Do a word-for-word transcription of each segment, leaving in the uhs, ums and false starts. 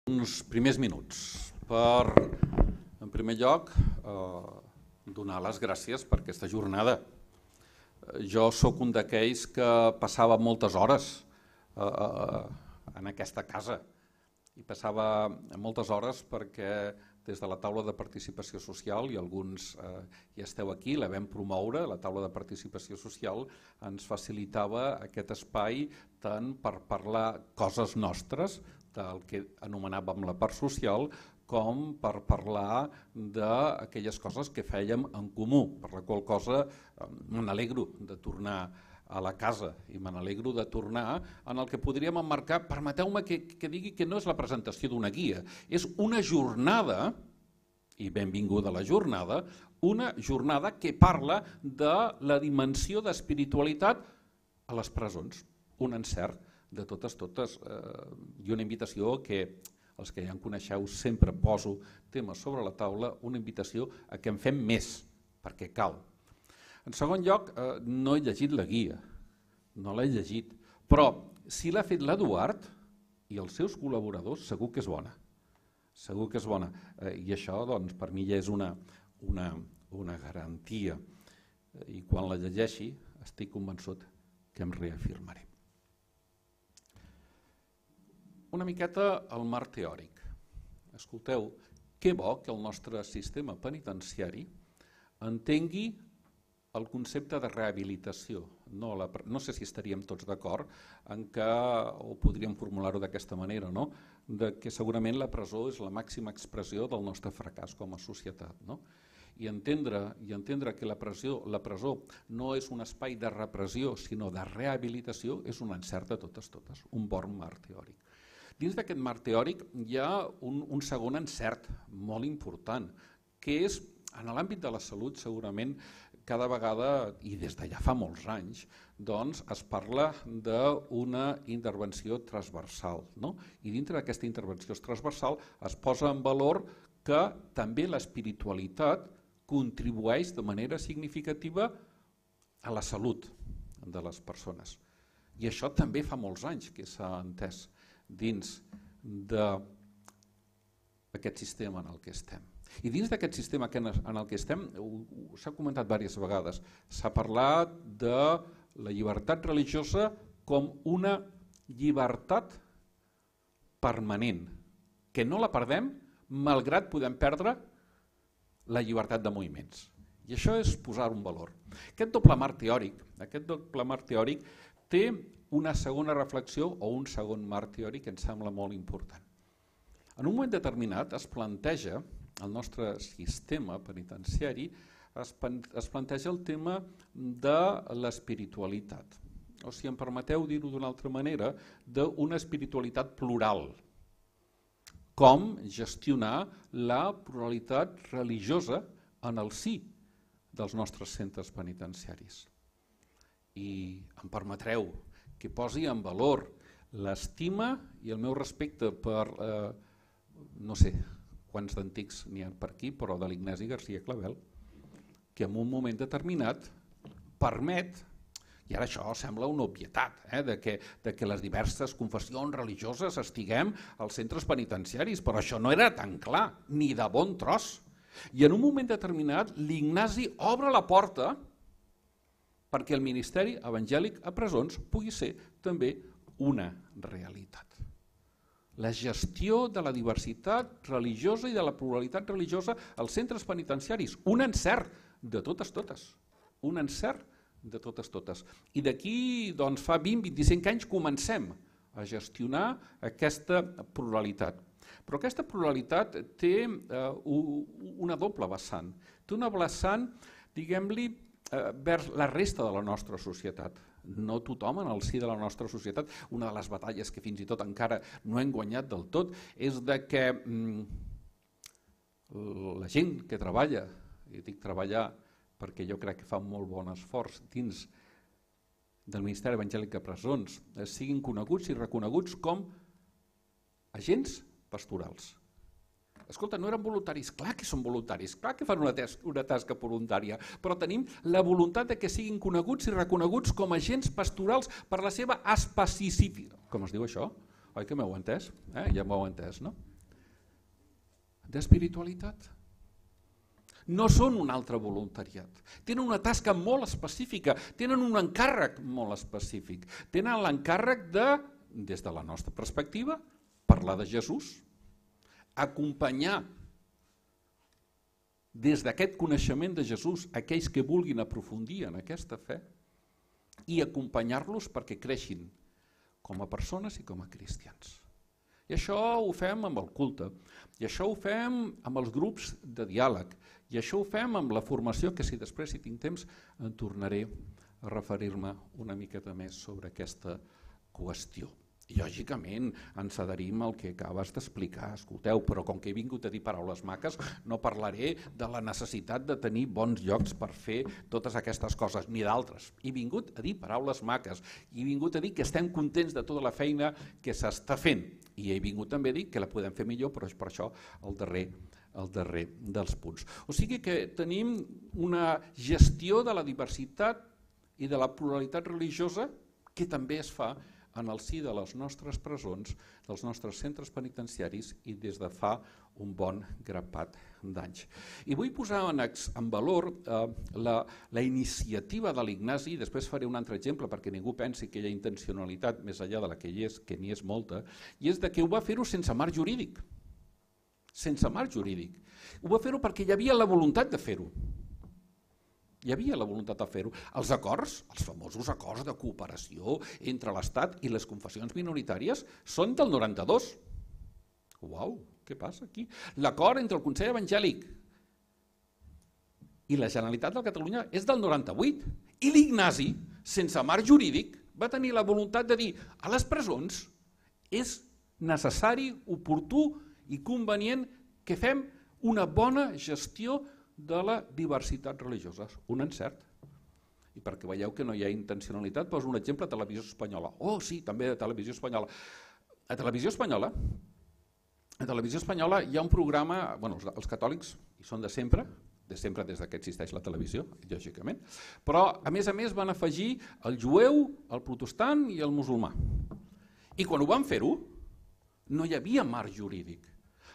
Uns primers minuts per, en primer lloc, eh, donar les gràcies per aquesta jornada. Jo sóc un d'aquells que passava moltes hores eh, en aquesta casa i passava moltes hores perquè des de la taula de participació social, i alguns eh, ja esteu aquí, la vam promoure, la taula de participació social ens facilitava aquest espai tant per parlar coses nostres, del que anomenàvem la part social, com per parlar d'aquelles coses que fèiem en comú, per la qual cosa me n'alegro de tornar a la casa i me n'alegro de tornar en el que podríem emmarcar, permeteu-me que, que digui que no és la presentació d'una guia, és una jornada, i benvinguda la jornada, una jornada que parla de la dimensió d'espiritualitat a les presons, un encert de totes, totes, eh, i una invitació que els que ja en coneixeu sempre poso temes sobre la taula, una invitació a que en fem més, perquè cal. En segon lloc, eh, no he llegit la guia, no l'he llegit, però si l'ha fet l'Eduard i els seus col·laboradors, segur que és bona, segur que és bona, eh, i això doncs, per mi ja és una, una, una garantia, i quan la llegeixi estic convençut que em reafirmaré. Una miqueta el marc teòric. Escolteu, que bo que el nostre sistema penitenciari entengui el concepte de rehabilitació. No, la, no sé si estaríem tots d'acord en que, o podríem formular-ho d'aquesta manera, no? De que segurament la presó és la màxima expressió del nostre fracàs com a societat. No? I entendre, i entendre que la presó, la presó no és un espai de repressió, sinó de rehabilitació, és un encert de totes, totes, un bon marc teòric. Dins d'aquest marc teòric hi ha un, un segon encert molt important, que és, en l'àmbit de la salut, segurament, cada vegada, i des de ja fa molts anys, doncs es parla d'una intervenció transversal. No? I dintre d'aquesta intervenció transversal es posa en valor que també l'espiritualitat contribueix de manera significativa a la salut de les persones. I això també fa molts anys que s'ha entès dins d'aquest sistema en el que estem. I dins d'aquest sistema en el que estem, s'ha comentat diverses vegades, s'ha parlat de la llibertat religiosa com una llibertat permanent, que no la perdem malgrat podem perdre la llibertat de moviments. I això és posar un valor. Aquest doble marc teòric, aquest doble marc teòric té una segona reflexió o un segon marc teòric que em sembla molt important. En un moment determinat es planteja, el nostre sistema penitenciari, es, es planteja el tema de l'espiritualitat. O si em permeteu dir-ho d'una altra manera, d'una espiritualitat plural. Com gestionar la pluralitat religiosa en el si dels nostres centres penitenciaris. I em permetreu que posi en valor l'estima i el meu respecte per, eh, no sé quants d'antics n'hi ha per aquí, però de l'Ignasi García Clavel, que en un moment determinat permet, i ara això sembla una obvietat, eh, de, que, de que les diverses confessions religioses estiguem als centres penitenciaris, però això no era tan clar, ni de bon tros. I en un moment determinat l'Ignasi obre la porta perquè el Ministeri Evangèlic a Presons pugui ser també una realitat. La gestió de la diversitat religiosa i de la pluralitat religiosa als centres penitenciaris, un encert de totes, totes, un encert de totes, totes. I d'aquí doncs, fa vint a vint-i-cinc anys comencem a gestionar aquesta pluralitat. Però aquesta pluralitat té eh, una doble vessant. Té una vessant, diguem-li, vers la resta de la nostra societat. No tothom en el si de la nostra societat, una de les batalles que fins i tot encara no hem guanyat del tot, és de que mm, la gent que treballa, i dic treballar perquè jo crec que fa un molt bon esforç dins del Ministeri Evangèlic a Presons, siguin coneguts i reconeguts com agents pastorals. Escolta, no eren voluntaris? Clar que són voluntaris, clar que fan una, una tasca voluntària, però tenim la voluntat de que siguin coneguts i reconeguts com a agents pastorals per la seva especificitat. Com es diu això? Oi que m'heu entès? Eh? Ja m'heu entès, no? d'espiritualitat. No són un altre voluntariat. Tenen una tasca molt específica, tenen un encàrrec molt específic. Tenen l'encàrrec de, des de la nostra perspectiva, parlar de Jesús, acompanyar des d'aquest coneixement de Jesús aquells que vulguin aprofundir en aquesta fe i acompanyar-los perquè creixin com a persones i com a cristians. I això ho fem amb el culte, i això ho fem amb els grups de diàleg, i això ho fem amb la formació, que si després si tinc temps en tornaré a referir-me una miqueta més sobre aquesta qüestió. I lògicament ens adherim al que acabes d'explicar, escolteu, però com que he vingut a dir paraules maques, no parlaré de la necessitat de tenir bons llocs per fer totes aquestes coses, ni d'altres. He vingut a dir paraules maques, he vingut a dir que estem contents de tota la feina que s'està fent, i he vingut també a dir que la podem fer millor, però és per això el darrer, el darrer dels punts. O sigui que tenim una gestió de la diversitat i de la pluralitat religiosa que també es fa en el si de les nostres presons, dels nostres centres penitenciaris i des de fa un bon grapat d'anys. I vull posar en, en valor eh, la, la iniciativa de l'Ignasi, i després faré un altre exemple perquè ningú pensi que hi ha intencionalitat més enllà de la que hi és, que n'hi és molta, i és de que ho va fer-ho sense marc jurídic. Sense marc jurídic. Ho va fer-ho perquè hi havia la voluntat de fer-ho. Hi havia la voluntat de fer-ho. Els acords, els famosos acords de cooperació entre l'Estat i les confessions minoritàries són del noranta-dos. Uau, què passa aquí? L'acord entre el Consell Evangèlic i la Generalitat de Catalunya és del noranta-vuit. I l'Ignasi, sense marc jurídic, va tenir la voluntat de dir a les presons és necessari, oportú i convenient que fem una bona gestió de la diversitat religiosa, un encert. I perquè veieu que no hi ha intencionalitat, poso un exemple a Televisió Espanyola. Oh, sí, també a Televisió Espanyola. A Televisió Espanyola, a Televisió Espanyola hi ha un programa, bueno, els catòlics hi són de sempre, de sempre des que existeix la televisió, lògicament, però a més a més van afegir el jueu, el protestant i el musulmà. I quan ho van fer-ho, no hi havia marc jurídic,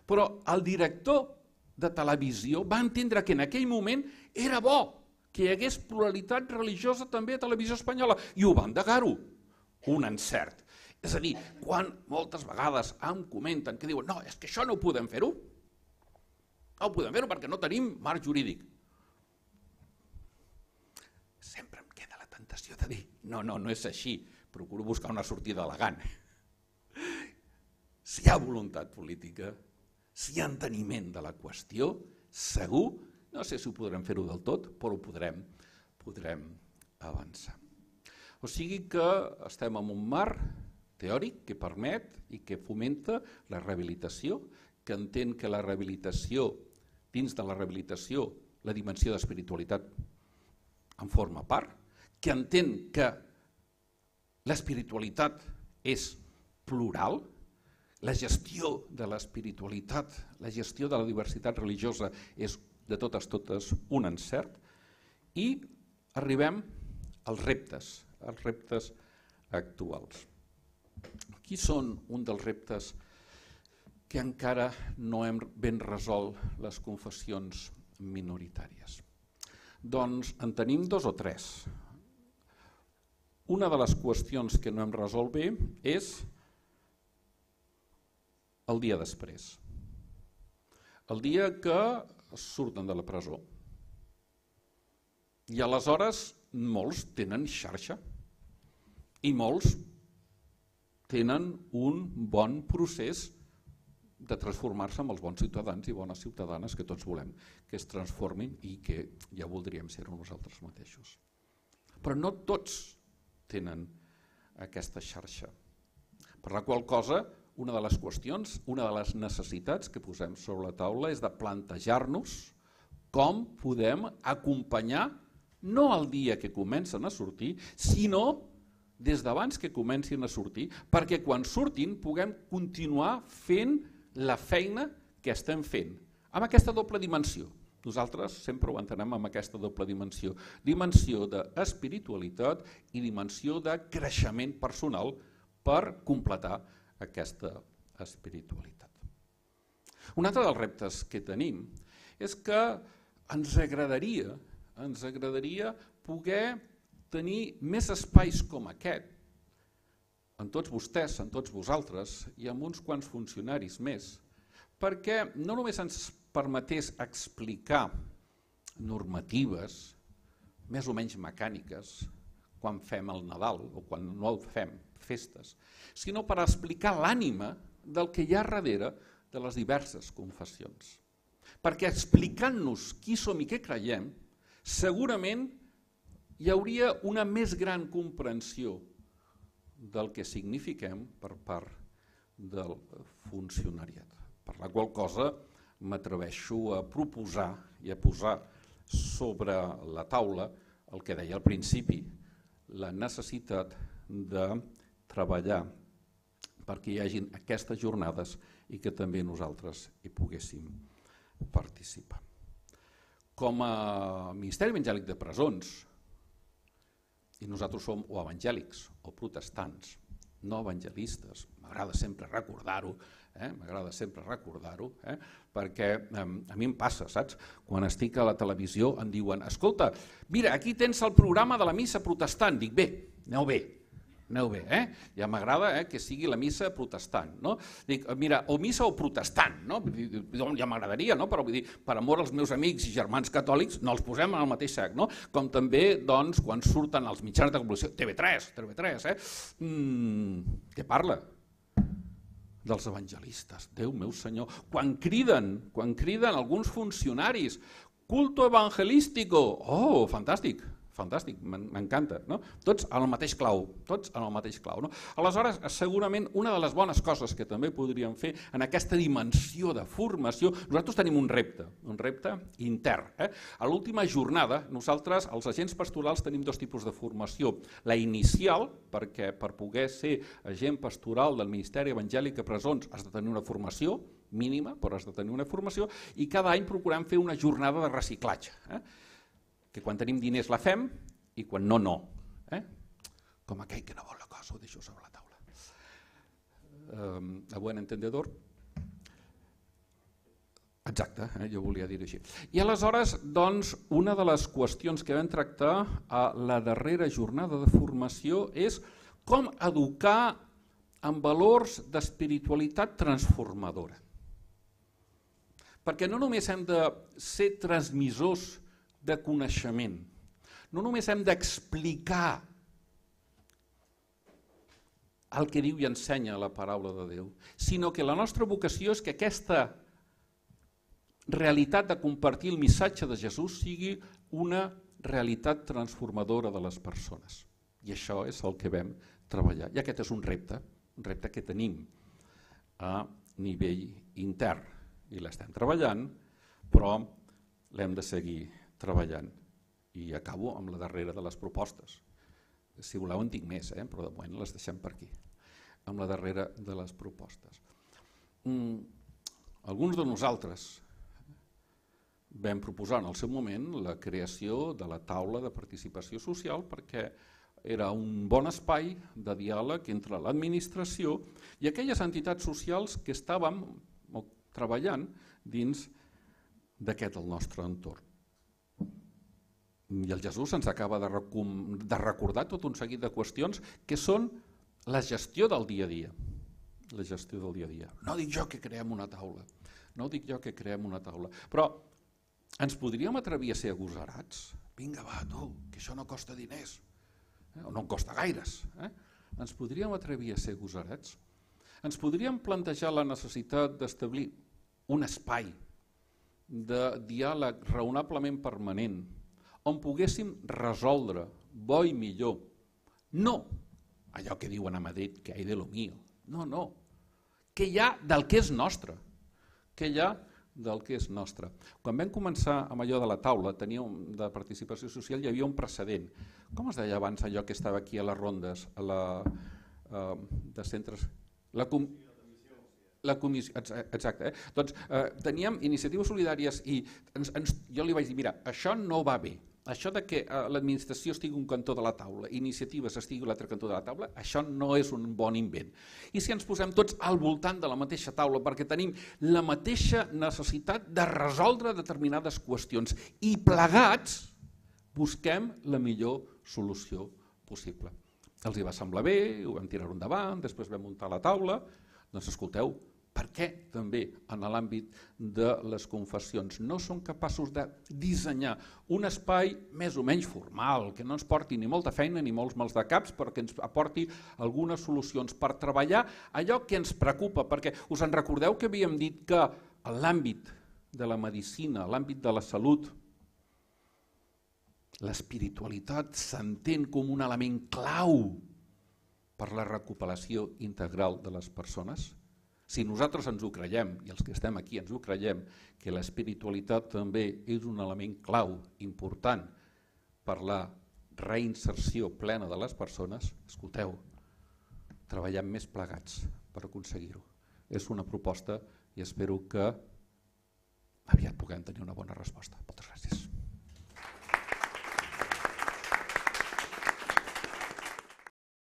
però el director de televisió va entendre que en aquell moment era bo que hi hagués pluralitat religiosa també a Televisió Espanyola i ho va endegar-ho, un encert. És a dir, quan moltes vegades em comenten que diuen no, és que això no ho podem fer-ho, no ho podem fer-ho perquè no tenim marc jurídic. Sempre em queda la tentació de dir no, no, no és així, procuro buscar una sortida elegant. Si hi ha voluntat política, si hi ha enteniment de la qüestió, segur, no sé si ho podrem fer-ho del tot, però ho podrem, podrem avançar. O sigui que estem en un marc teòric que permet i que fomenta la rehabilitació, que entén que la rehabilitació, dins de la rehabilitació, la dimensió d'espiritualitat en forma part, que entén que l'espiritualitat és plural, la gestió de l'espiritualitat, la gestió de la diversitat religiosa és de totes totes un encert i arribem als reptes, als reptes actuals. Qui són un dels reptes que encara no hem ben resolt les confessions minoritàries? Doncs en tenim dos o tres. Una de les qüestions que no hem resolt bé és el dia després, el dia que surten de la presó. I aleshores molts tenen xarxa i molts tenen un bon procés de transformar-se en els bons ciutadans i bones ciutadanes que tots volem que es transformin i que ja voldríem ser-ho nosaltres mateixos. Però no tots tenen aquesta xarxa, per la qual cosa una de les qüestions, una de les necessitats que posem sobre la taula és de plantejar-nos com podem acompanyar no el dia que comencen a sortir, sinó des d'abans que comencin a sortir, perquè quan surtin puguem continuar fent la feina que estem fent, amb aquesta doble dimensió. Nosaltres sempre ho entenem amb aquesta doble dimensió, dimensió d'espiritualitat i dimensió de creixement personal per completar aquesta espiritualitat. Un altre dels reptes que tenim és que ens agradaria, ens agradaria poder tenir més espais com aquest, en tots vostès, en tots vosaltres i amb uns quants funcionaris més, perquè no només ens permetés explicar normatives més o menys mecàniques quan fem el Nadal o quan no el fem, festes, sinó per explicar l'ànima del que hi ha darrere de les diverses confessions. Perquè explicant-nos qui som i què creiem, segurament hi hauria una més gran comprensió del que signifiquem per part del funcionariat. Per la qual cosa m'atreveixo a proposar i a posar sobre la taula el que deia al principi, la necessitat de treballar perquè hi hagin aquestes jornades i que també nosaltres hi poguéssim participar. Com a Ministeri Evangèlic de Presons, i nosaltres som o evangèlics o protestants, no evangelistes, m'agrada sempre recordar-ho, eh? m'agrada sempre recordar-ho, eh? perquè eh, a mi em passa, saps? Quan estic a la televisió em diuen, escolta, mira, aquí tens el programa de la missa protestant. Dic, bé, aneu bé, aneu bé, eh? ja m'agrada eh, que sigui la missa protestant. No? Dic, mira, o missa o protestant, no? ja m'agradaria, no? però vull dir, per amor als meus amics i germans catòlics no els posem en el mateix sac, no? Com també doncs, quan surten els mitjans de comunicació, T V tres, T V tres, eh? mm, què parla? Dels evangelistes, Déu meu senyor, quan criden, quan criden alguns funcionaris, culto evangelístico, oh, fantàstic, fantàstic, m'encanta, no? Tots en el mateix clau, tots en el mateix clau. No? Aleshores, segurament una de les bones coses que també podríem fer en aquesta dimensió de formació, nosaltres tenim un repte, un repte intern. Eh? A l'última jornada, nosaltres, els agents pastorals, tenim dos tipus de formació. La inicial, perquè per poder ser agent pastoral del Ministeri Evangèlic de Presons has de tenir una formació mínima, però has de tenir una formació, i cada any procurem fer una jornada de reciclatge. Eh? que quan tenim diners la fem i quan no, no. Eh? Com aquell que no vol la cosa, ho deixo sobre la taula. Eh, a buen entendedor. Exacte, eh? jo volia dir-ho així. I aleshores, doncs, una de les qüestions que vam tractar a la darrera jornada de formació és com educar en valors d'espiritualitat transformadora. Perquè no només hem de ser transmissors de coneixement. No només hem d'explicar el que diu i ensenya la paraula de Déu, sinó que la nostra vocació és que aquesta realitat de compartir el missatge de Jesús sigui una realitat transformadora de les persones. I això és el que vam treballar. I aquest és un repte, un repte que tenim a nivell intern. I l'estem treballant, però l'hem de seguir treballant. I acabo amb la darrera de les propostes. Si voleu en tinc més, eh? però de moment les deixem per aquí. Amb la darrera de les propostes. Mm, alguns de nosaltres vam proposar en el seu moment la creació de la taula de participació social perquè era un bon espai de diàleg entre l'administració i aquelles entitats socials que estàvem treballant dins d'aquest el nostre entorn. I el Jesús ens acaba de, de recordar tot un seguit de qüestions que són la gestió del dia a dia. La gestió del dia a dia. No dic jo que creem una taula, no dic jo que creem una taula, però ens podríem atrevir a ser agosarats? Vinga, va, tu, que això no costa diners, eh? o no en costa gaires. Eh? Ens podríem atrevir a ser agosarats? Ens podríem plantejar la necessitat d'establir un espai de diàleg raonablement permanent on poguéssim resoldre bo i millor, no allò que diuen a Madrid, que hay de lo mío, no, no, que hi ha del que és nostre, que hi ha del que és nostre. Quan vam començar amb allò de la taula, teníem de participació social, hi havia un precedent. Com es deia abans allò que estava aquí a les rondes, a la, uh, de centres... La com... La comissió, exacte. Eh? Doncs eh, teníem iniciatives solidàries i ens, ens, jo li vaig dir, mira, això no va bé, això de que l'administració estigui un cantó de la taula, iniciatives estigui a l'altre cantó de la taula, això no és un bon invent. I si ens posem tots al voltant de la mateixa taula perquè tenim la mateixa necessitat de resoldre determinades qüestions i plegats busquem la millor solució possible. Els hi va semblar bé, ho vam tirar endavant, després vam muntar la taula, doncs escolteu, per què també en l'àmbit de les confessions no són capaços de dissenyar un espai més o menys formal, que no ens porti ni molta feina ni molts mals de caps, però que ens aporti algunes solucions per treballar allò que ens preocupa, perquè us en recordeu que havíem dit que en l'àmbit de la medicina, l'àmbit de la salut, l'espiritualitat s'entén com un element clau per la recuperació integral de les persones? Si nosaltres ens ho creiem, i els que estem aquí ens ho creiem, que l'espiritualitat també és un element clau important per la reinserció plena de les persones, escolteu, treballem més plegats per aconseguir-ho. És una proposta i espero que aviat puguem tenir una bona resposta. Moltes gràcies.